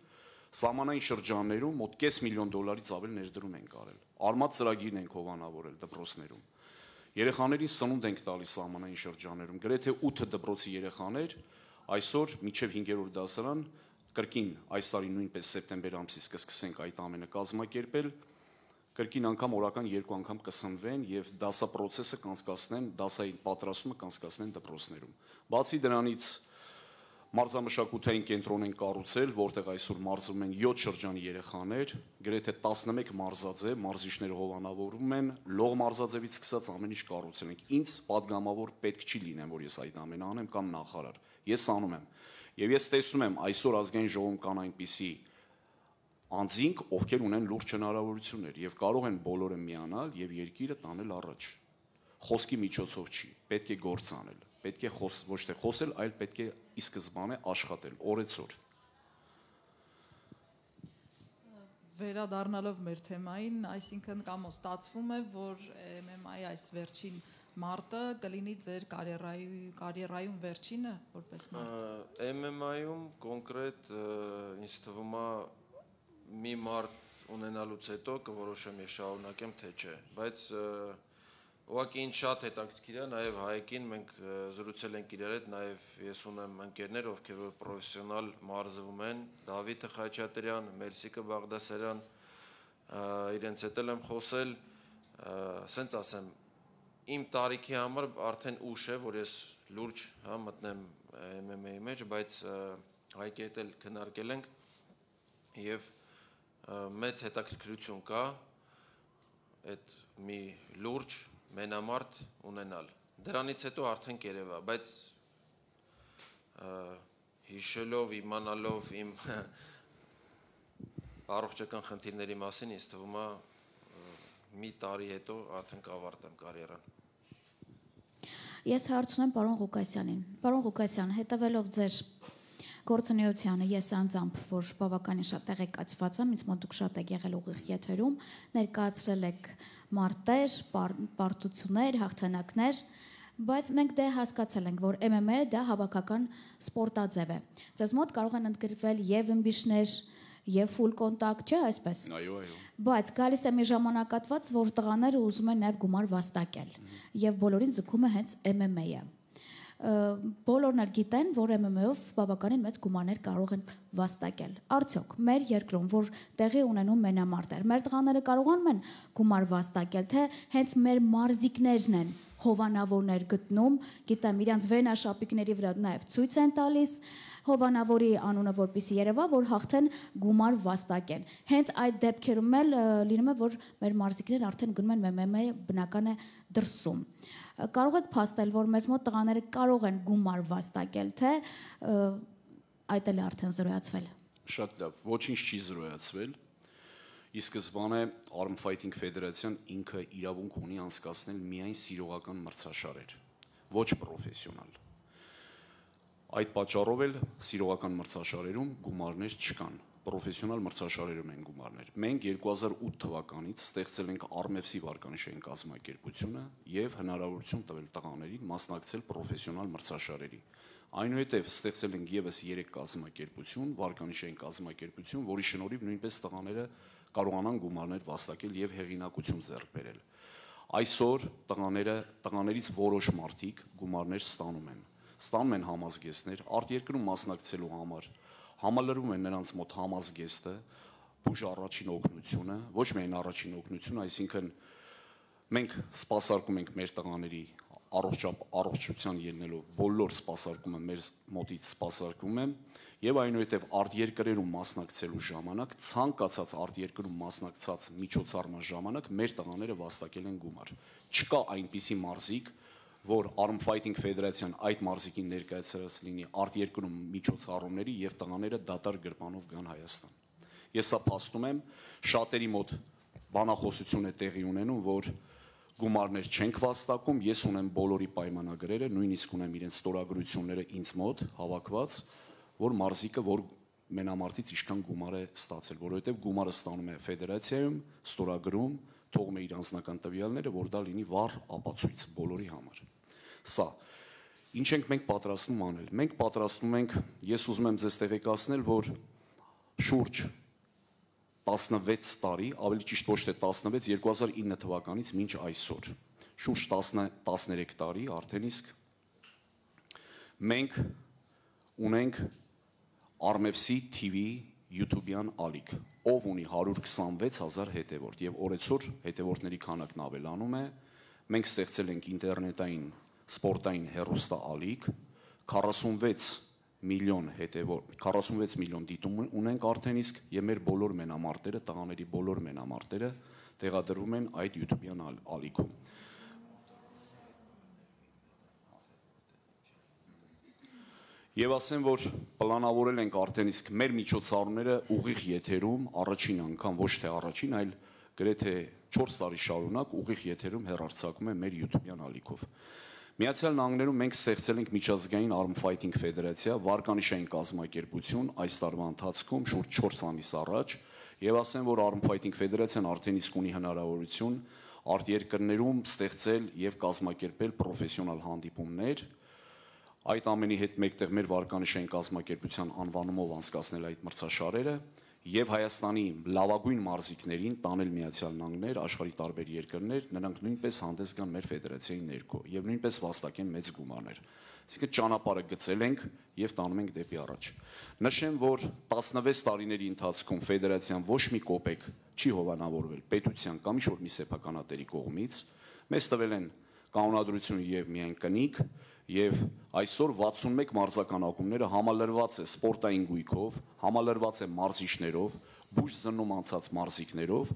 սահմանային շրջաններում մոտ կես միլիոն դոլարից ավել ներդրում ենք արել։ Արմատ ծրագիրն ենք հովանավորել դպրոցներում։ Երեխաներին սնունդ ենք տալիս սահմանային շրջաններում։ Գրեթե ութ դպրոցի երեխաներ այսօր մինչև հինգերորդ դասարան կրկին այս տարի նույնպես սեպտեմբեր ամսից կսկսենք այդ ամենը կազմակերպել, կրկին անգամ օրական երկու անգամ կսնվեն եւ դասապրոցեսը կանցկացնեն, դասայի պատրաստումը կանցկացնեն դպրոցներում։ Բացի դրանից մարզամշակութային կենտրոն են կառուցել, որտեղ այսօր մարզվում են յոթ շրջանի երեխաներ, գրեթե տասնմեկ մարզաձև, մարզիչները հովանավորում են, լող մարզաձևից սկսած ամեն ինչ կառուցել ենք։ Ինձ падգամավոր պետք չի լինեմ, որ ես այդ ամենը անեմ կամ նախարար։ Ես անում եմ։ Եվ ես տեսնում եմ այսօր ազգային ժողովում կան այնպիսի անձինք, ովքեր ունեն լուրջ հնարավորություններ եւ կարող են բոլորը միանալ եւ երկիրը տանել առաջ։ Խոսքի միջոցով չի, պետք է գործ անել, պետք է խոս, ոչ թե խոսել, այլ պետք է ի սկզբանե աշխատել, օրեցօր։ Վերադառնալով մեր թեմային, այսինքն կամ ստացվում է, որ M M A-ի այս վերջին մարտը կլինի ձեր կարիերայի կարիերայում վերջինը որպես մարտ։ M M A-ում կոնկրետ ինձ թվում է մի մարտ ունենալուց հետո կորոշեմ ես շարունակեմ թե չէ, բայց ուղղակի ինձ շատ հետաքրքիր է, նաև Հայեկին մենք զրուցել ենք իրար հետ, նաև ես ունեմ ընկերներ, ովքեր որ պրոֆեսիոնալ մարզվում են, Դավիթը Խաչատրյան, Մելսիկը Բաղդասարյան, իրենց հետ եմ խոսել, ասենց ասեմ, իմ տարիքի համար արդեն ուշ է, որ ես լուրջ հա մտնեմ M M A-ի մեջ, բայց Հայկի հետ էլ քննարկել ենք եւ մեծ հետաքրքրություն կա այդ մի լուրջ մենամարտ ունենալ։ Դրանից հետո արդեն կերևա, բայց հիշելով, իմանալով իմ առողջական խնդիրների մասին, ինձ թվում է մի տարի հետո արդեն կավարտեմ կարիերան։ Ես հարց ունեմ պարոն Ղուկասյանին։ Պարոն Ղուկասյան, հետևելով ձեր գործունեությանը, ես անձամբ, որ բավականին շատ տեղեկացված եմ, ինձ մոտ դուք շատ եք եղել ուղիղ եթերում, ներկայացրել եք մարտեր, պարտություններ, հաղթանակներ, բայց մենք դե հասկացել ենք, որ M M A դա հավաքական սպորտաձև է։ Ձեզ մոտ կարող են ընդգրկվել եւ ըմբիշներ, եւ full contact, չէ՞ այսպես։ Այո, այո։ Բայց գալիս է մի ժամանակատված, որ տղաները ուզում են նաեւ գումար վաստակել, եւ բոլորին ձգում է հենց M M A-ը։ Բոլորն էլ գիտեն, որ M M A-ով բավականին մեծ գումարներ կարող են վաստակել։ Արդյոք մեր երկրում, որ տեղի ունենում մենամարտեր, մեր տղաները կարողանում են գումար վաստակել, թե հենց մեր մարզիկներն են հովանավորներ գտնում, գիտեմ, իրանց վենաշապիկների վրա նաև ցույց են տալիս հովանավորի անունը, որպեսզի երևա, որ հաղթեն գումար վաստակեն։ Հենց այդ դեպքերում էլ լինում է, որ մեր մարզիկներն արդեն գնում են M M A բնական է դրսում։ Կարող եք փաստել, որ մեզ մոտ տղաները կարող են գումար վաստակել, թե այդ էլ է արդեն զրոյացվել։ Շատ լավ, ոչինչ չի զրոյացվել։ Ի սկզբանե Arm Fighting Federation ինքը իրավունք ունի անցկացնել միայն սիրողական մրցաշարեր, ոչ պրոֆեսիոնալ։ Այդ պատճառով էլ սիրողական մրցաշարերում գումարներ չկան, պրոֆեսիոնալ մրցաշարերում են գումարներ։ Մենք երկու հազար ութ թվականից ստեղծել ենք Arm-F-ի վարկանիշային կազմակերպությունը եւ հնարավորություն տվել տղաներին մասնակցել պրոֆեսիոնալ մրցաշարերի։ Այնուհետև ստեղծել ենք եւս երեք կազմակերպություն, վարկանիշային կազմակերպություն, որի շնորհիվ նույնպես տղաները կարողանան գումարներ վաստակել եւ հեղինակություն ձեռք բերել։ Այսօր տղաները, տղաներից որոշ մարդիկ գումարներ ստանում են։ Ստանում են համազգեստներ արտերկրում մասնակցելու համար, համալրվում է նրանց մոտ համազգեստը, բուժ առաջին օգնությունը, ոչ միայն առաջին օգնությունը, այսինքն մենք սպասարկում ենք մեր տղաների առողջության ելնելով բոլոր սպասարկումը մեր մոտից սպասարկում եմ եւ այնուհետեւ արտերկրերում մասնակցելու ժամանակ ցանկացած արտերկրում մասնակցած միջոցառման ժամանակ մեր տղաները վաստակել են գումար։ Չկա այնպիսի մարզիկ, որ Arm Fighting Ֆեդերացիան այդ մարզիկին ներկայացրած լինի արտերկրում միջոցառումների եւ տղաները դատարկ գրպանով գան Հայաստան։ Ես սա փաստում եմ, շատերի մոտ բանախոսություն է տեղի ունենում, որ գումարներ չենք վաստակում, ես ունեմ բոլորի պայմանագրերը, նույնիսկ ունեմ իրենց ստորագրությունները ինձ մոտ հավաքված, որ մարզիկը որ մենամարտից ինչքան գումար է ստացել, որովհետև գումարը ստանում է ֆեդերացիայում, ստորագրում, թողում է իր անձնական տվյալները, որ դա լինի վառ ապացույց բոլորի համար։ Սա ինչ ենք մենք պատրաստվում անել։ Մենք պատրաստվում ենք, ես ուզում եմ ձեզ տեղեկացնել, որ շուրջ տասնվեց տարի, ավելի ճիշտ ոչ թե տասնվեց, երկու հազար ինը թվականից մինչ այսօր, շուրջ տասներեք տարի, արդեն իսկ մենք ունենք Armefsi T V YouTube-յան ալիք, ով ունի հարյուր քսանվեց հազար հետևորդ եւ օրեցօր հետևորդների քանակն ավելանում է, մենք ստեղծել ենք ինտերնետային սպորտային հեռուստա ալիք, քառասունվեց միլիոն հետևորդ, քառասունվեց միլիոն դիտում ունենք արդեն իսկ եւ մեր բոլոր մենամարտերը, տղաների բոլոր մենամարտերը տեղադրվում են այդ YouTube-յան ալիքում։ Եվ ասեմ, որ պլանավորել ենք արդեն իսկ մեր միջոցառումները ուղիղ եթերում առաջին անգամ, ոչ թե առաջին, այլ գրեթե չորս տարի շարունակ ուղիղ եթերում հեռարձակում է մեր YouTube-յան ալիքով։ Միացյալ Նահանգներում մենք ստեղծել ենք միջազգային Arm Fighting Ֆեդերացիա, վարկանիշային կազմակերպություն այս տարվա ընթացքում շուրջ չորս ամիս առաջ, եւ ասեմ, որ Arm Fighting Ֆեդերացիան արդեն իսկ ունի հնարավորություն արտերկրներում ստեղծել եւ կազմակերպել պրոֆեսիոնալ հանդիպումներ, այդ ամենի հետ մեկտեղ մեր վարկանիշային կազմակերպության անվանումով անցկացնել այդ մրցաշարերը եւ Հայաստանի լավագույն մարզիկներին տանել Միացյալ Նահանգներ, աշխարհի տարբեր երկրներ, նրանք նույնպես հանդես գան մեր ֆեդերացիայի ներքո եւ նույնպես վաստակեն մեծ գումարներ։ Այսինքն ճանապարհը գծել ենք եւ տանում ենք դեպի առաջ։ Նշեմ, որ տասնվեց տարիների ընթացքում ֆեդերացիան ոչ մի կոպեկ չի հովանավորվել պետության կամ ինչ-որ մի սեփականատերի կողմից, մեզ տվել են կանոնադրություն եւ միայն կնիկ, եւ այսօր վաթսունմեկ մարզական ակումբները համալրված է սպորտային գույքով, համալրված է մարզիչներով, բուժ զննում անցած մարզիկներով,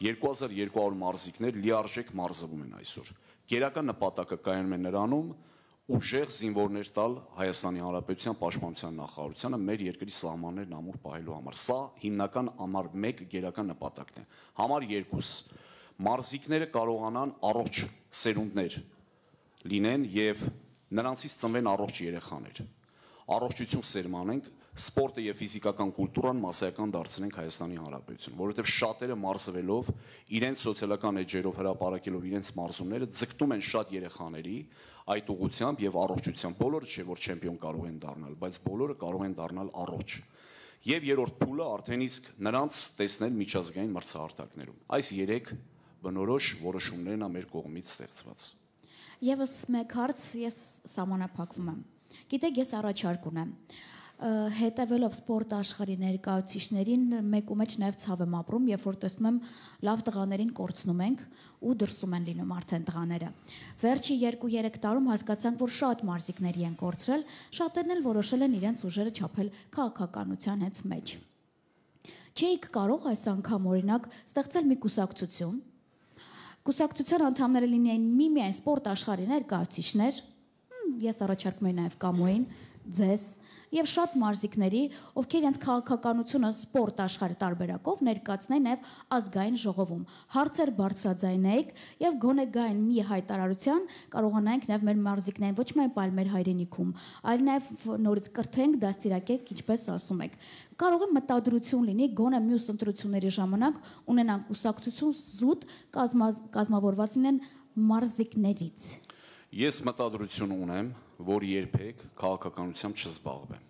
երկու հազար երկու հարյուր մարզիկներ լիարժեք մարզվում են այսօր։ Գերական նպատակը կայանում է նրանում ուժեղ զինվորներ տալ Հայաստանի Հանրապետության Պաշտպանության նախարարությանը մեր երկրի սահմաններն ամուր պահելու համար։ Սա հիմնական համար մեկ գերական նպատակն է։ Համար երկուս մարզիկները կարողանան առողջ սերունդներ լինեն եւ նրանցից ծնվեն առողջ երեխաներ։ Առողջություն սերմանենք, սպորտը եւ ֆիզիկական կուլտուրան մասսայական դարձնենք Հայաստանի Հանրապետություն, որովհետեւ շատերը մարզվելով, իրենց սոցիալական էջերով հրապարակելով իրենց մարզումները ձգտում են շատ երեխաների այդ ուղղությամբ եւ առողջությամբ։ Բոլորը չէ որ չեմպիոն կարող են դառնալ, բայց բոլորը կարող են դառնալ առողջ։ Եվ երրորդ փուլը արդեն իսկ նրանց տեսնել միջազգային մրցահարթակներում։ Այս երեք բնորոշ որոշումներն ա մեր կողմից ստեղծված։ Եվս մեկ հարց ես սահմանափակվում եմ։ Գիտեք, ես առաջարկ ունեմ։ Հետևելով սպորտ աշխարհի ներկայացուցիչներին մեկ ու մեջ նաև ցավ եմ ապրում, երբ որ տեսնում եմ լավ տղաներին կորցնում ենք ու դրսում են լինում արդեն տղաները։ Վերջի երկու-երեք տարում հասկացանք, որ շատ մարզիկների են կորցրել, շատերն էլ որոշել են իրենց ուժերը չափել քաղաքականության հենց մեջ։ Չէիք կարող այս անգամ օրինակ ստեղծել մի կուսակցություն, կուսակցության անդամները լինեին միմիայն սպորտ աշխարհի ներկայացուցիչներ, ես առաջարկում եմ նաև Կամոյին, ձեզ եւ շատ մարզիկների, ովքեր իրենց քաղաքականությունը սպորտ աշխարհի տարբերակով ներկայացնեն նաեւ ազգային ժողովում։ Հարցեր բարձրաձայնեիք եւ գոնե գային մի հայտարարության կարողանանք նաեւ մեր մարզիկներին ոչ միայն պայել մեր հայրենիքում, այլ նաեւ նորից կրթենք, դաստիարակենք, ինչպես ասում եք։ Կարող է մտադրություն լինի գոնե մյուս ընտրությունների ժամանակ ունենան կուսակցություն զուտ կազմավորված լինեն մարզիկներից։ Ես մտադրություն ունեմ, որ երբեք քաղաքականությամբ չզբաղվեմ։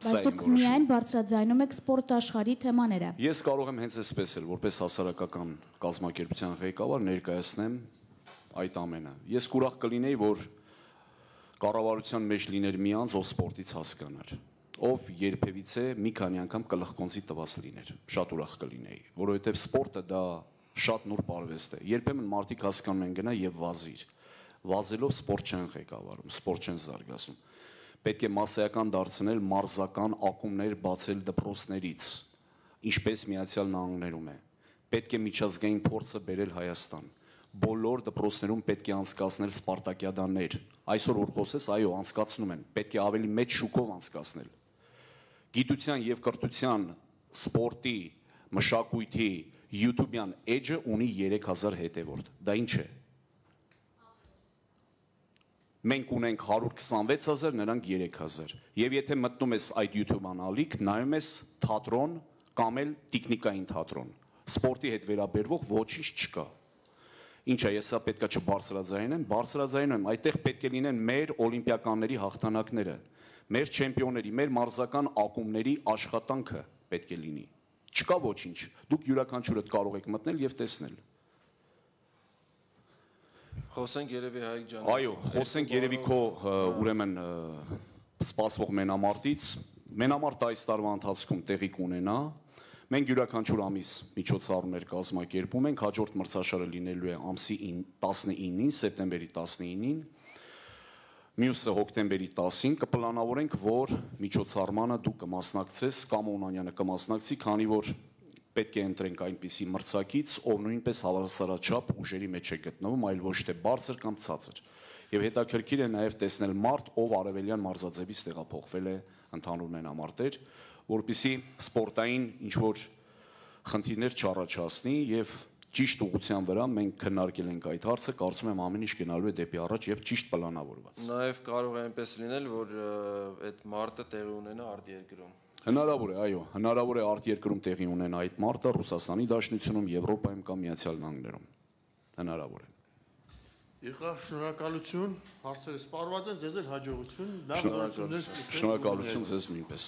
Բայց դուք միայն բարձրաձայնում եք սպորտ աշխարհի թեմաները։ Ես կարող եմ հենց այսպես էլ, որպես հասարակական կազմակերպության ղեկավար ներկայացնեմ այդ ամենը։ Ես կուրախ կլինեի, որ կառավարության մեջ լիներ մի անձ, ով սպորտից հասկանար։ ով երբևիցե մի քանի անգամ կլխկոնցի տված լիներ, շատ ուրախ կլինեի, որովհետև սպորտը դա շատ նուրբ արվեստ է։ Երբեմն մարդիկ հասկանում են գնա եւ վազիր։ Վազելով սպորտ չեն ղեկավարում, սպորտ չեն զարգացնում։ Պետք է մասսայական դարձնել մարզական ակումբներ բացել դպրոցներից, ինչպես Միացյալ Նահանգներում է։ Պետք է միջազգային փորձը բերել Հայաստան։ Բոլոր դպրոցներում պետք է անցկացնել սպարտակիադաներ։ Այսօր որ խոսես, այո, անցկացնում են։ Պետք է ավելի մեծ շուկով անցկացնել։ Գիտության եւ կրթության, սպորտի, մշակույթի, YouTube-յան էջը ունի երեք հազար հետևորդ։ Դա ինչ է։ Մենք ունենք հարյուր քսանվեց հազար, նրանք երեք հազար։ Եվ եթե մտնում ես այդ YouTube-ան ալիք, նայում ես թատրոն կամ էլ տեխնիկային թատրոն։ Սպորտի հետ վերաբերվող ոչինչ չկա։ Ինչ է, ես սա պետքա չբարձրաձայնեմ, բարձրաձայնում եմ, այդտեղ պետք է լինեն մեր օլիմպիականների հաղթանակները, մեր չեմպիոնների, մեր մարզական ակումբների աշխատանքը պետք է լինի։ Չկա ոչինչ։ Դուք յուրաքանչյուրդ կարող եք մտնել եւ տեսնել։ Խոսենք երևի Հայկ ջան։ Այո, խոսենք երևի քո ուրեմն սպասվող մենամարտից։ Մենամարտը այս տարվա ընթացքում տեղի կունենա։ Մենք յուրաքանչյուր ամիս միջոցառումներ կազմակերպում ենք, հաջորդ մրցաշարը լինելու է ամսի տասնինին, սեպտեմբերի տասնինին, մյուսը հոկտեմբերի տասին, կպլանավորենք, որ միջոցառմանը դու կմասնակցես, կամ Օնանյանը կմասնակցի, քանի որ պետք է ընտրենք այնպիսի մրցակից, ով նույնպես հավասարաչափ ուժերի մեջ է գտնվում, այլ ոչ թե բարձր կամ ցածր։ Եվ հետաքրքիր է նաև տեսնել մարդ, ով արևելյան մարզաձևից տեղափոխվել է ընդհանուր մենամարտեր, որպեսզի սպորտային ինչ-որ խնդիրներ չառաջացնի եւ ճիշտ ուղղության վրա մենք քննարկել ենք այդ հարցը, կարծում եմ ամեն ինչ գնալու է դեպի առաջ եւ ճիշտ պլանավորված։ Նաեւ կարող է այնպես լինել, որ այդ մարտը տեղի ունենա արտերկրում։ Հնարավոր է, այո, հնարավոր է արտերկրում տեղի ունենա այդ մարտը Ռուսաստանի Դաշնությունում, Եվրոպայում կամ Միացյալ Նահանգներում։ Հնարավոր է։ Եղավ, շնորհակալություն, հարցերը սպառված են, ձեզ էլ հաջողություն, լավ նորություններ։ Շնորհակալություն ձեզ նույնպես։